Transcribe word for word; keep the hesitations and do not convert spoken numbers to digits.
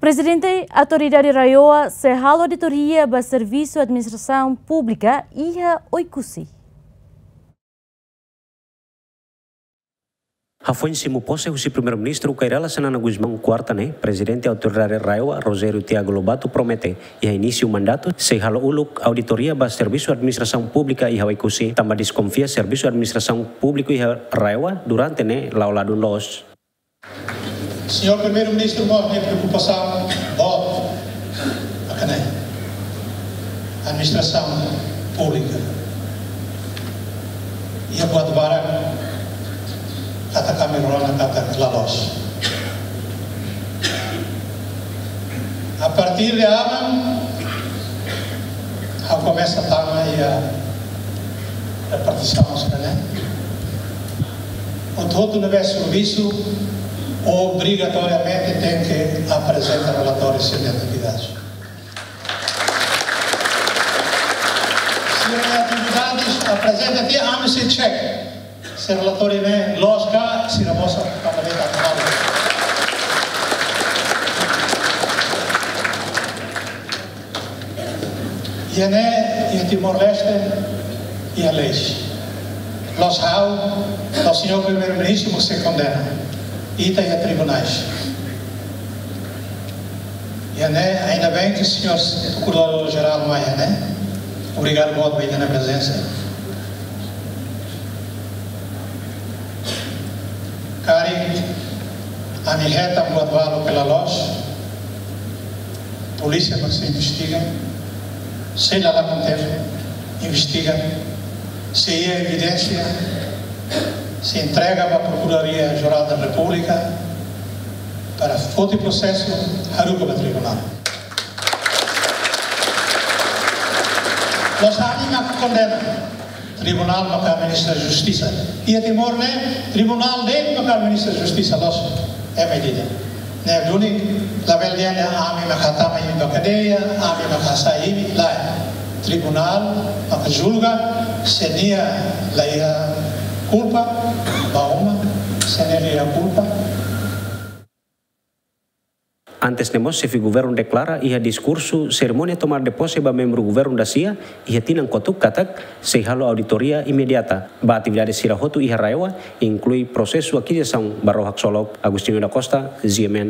Prezidente Autoridade RAEOA sei halo auditoria ba servisu administrasaun públika iha Oekusi. Hafoin simu pose husi Primeiru-Ministru Kay Rala Xanana Gusmão, kuarta ne'e, Prezidente Autoridade RAEOA, Rogério Tiago Lobato, promete, iha inísiu mandatu, sei halo uluk auditoria ba servisu administrasaun públika iha Oekusi, tanba deskonfia servisu administrasaun públiku iha RAEOA durante ne'e la'o ladún loos. Señór Primeiru-Ministru mós nia preokupasaun boot ba ne'e, administrasaun públika. Iha buat barak katak ami rona katak la loos. A partir de aban, ha'u komesa tama iha repartisaun sira-ne'e. Hotu-hotu ne'ebé servisu obrigatoriamente tenke aprezenta relatóriu sira-nia atividades. Sira-nia atividades aprezenta tiha, ami sei check. Se relatóriu ne'e loos ka, sira mós atu bele atu halo. Iha ne'e, iha Timor-Leste, iha leis. Loos ha'u, loos señór Primeiru-Ministru, mós sei kondena. Ita iha tribunais. Iha ne'e, ainda bem que o senhor Procurador-Geral mai iha ne'e. Obrigadu boot ba ita-nia prezensa. Karik ami hetan buat balu ke la loos, polísia mak sei investiga, sei la la kontene, investiga, se iha evidénsia, sei entrega ba Procuradoria Geral da República, para foti prosesu haruka ba tribunál. Loos ami mak kondena, tribunál maka ministra justisa. Iha Timor ne'e, tribunál de'it maka ministra justisa, loos, é medida. Ne'e duni, labele dehan ami maka tama imi ba kadeia, ami maka hasai imi, lae. Tribunál maka julga, se nia la iha kulpa, bá uma, se nia la iha kulpa. Antes ne'e mós, xefe governu deklara iha diskursu serimónia tomada de posse ba membru governu dasia iha tinan kotuk katak sei halo auditoria imediata ba atividade sira hotu iha RAEOA, inklui prosesu akizisaun ba ró haksolok. Agostinho da Costa, G M N.